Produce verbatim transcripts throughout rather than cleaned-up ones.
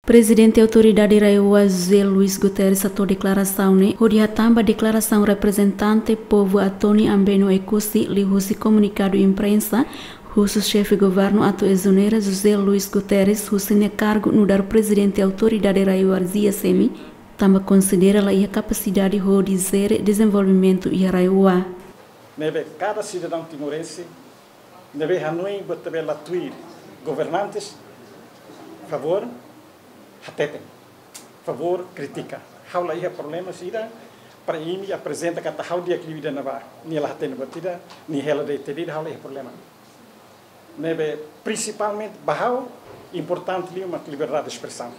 Prezidente Autoridade RAEOA José Luís Guterres hato'o deklarasaun ne'e hodi hatán ba deklarasaun reprezentante povu Atoni Ambeno Oekusi liuhusi komunikadu imprensa, husu xefe governu atu ezonera José Luís Guterres husi nia kargu nu'udar prezidente Autoridade RAEOA, tanba konsidera la iha kapasidade hodi jere dezenvolvimentu iha RAEOA. Ne'ebé kada sidadaun timorense ne'ebé hanoin buat ne'ebé la tuir governantes, favór hateten, favór kritika. Ha'u la iha problema sira para imi aprezenta katak ha'u di'ak liu ida-ne'ebá, nia la hatene buat ida, nia hela de'it ida, ha'u la iha problema. Ne'ebé prinsipalmente ba ha'u importante liu mak liberdade de espresaun.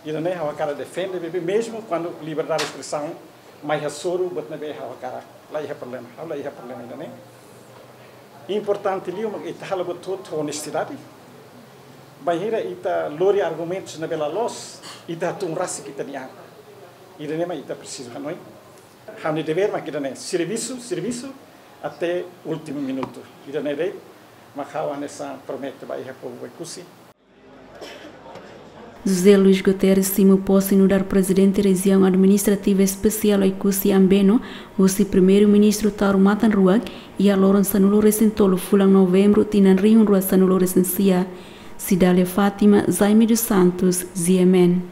Ida-ne'e ha'u hakarak defende, bebé, mezmu kuandu liberdade de espresaun mai hasoru buat ne'ebé ha'u hakarak, la iha problema, ha'u la iha problema ida-ne'e. Importante liu mak ita halo buat hotu ho onestidade. Bainhira ita lori argumentus ne'ebé la loos, ita hatún rasik ita-nia an. Ida-ne'e mak ita presiza hanoin. Ha'u-nia devér mak ida-ne'e, servisu, servisu até últimu minutu. Ida-ne'e de'it mak ha'u hanesan promete ba iha povu Oekusi. José Luís Guterres simu pose nu'udar prezidente Rejiaun Administrativa Espesiál Oekusi Ambeno husi Primeiru-Ministru Taur Matan Ruak iha loron sanulu-resin-tolu fulan Novembru tinan rihun rua sanulu-resin-sia. Cidália Fátima, Jaime dos Santos, G M N.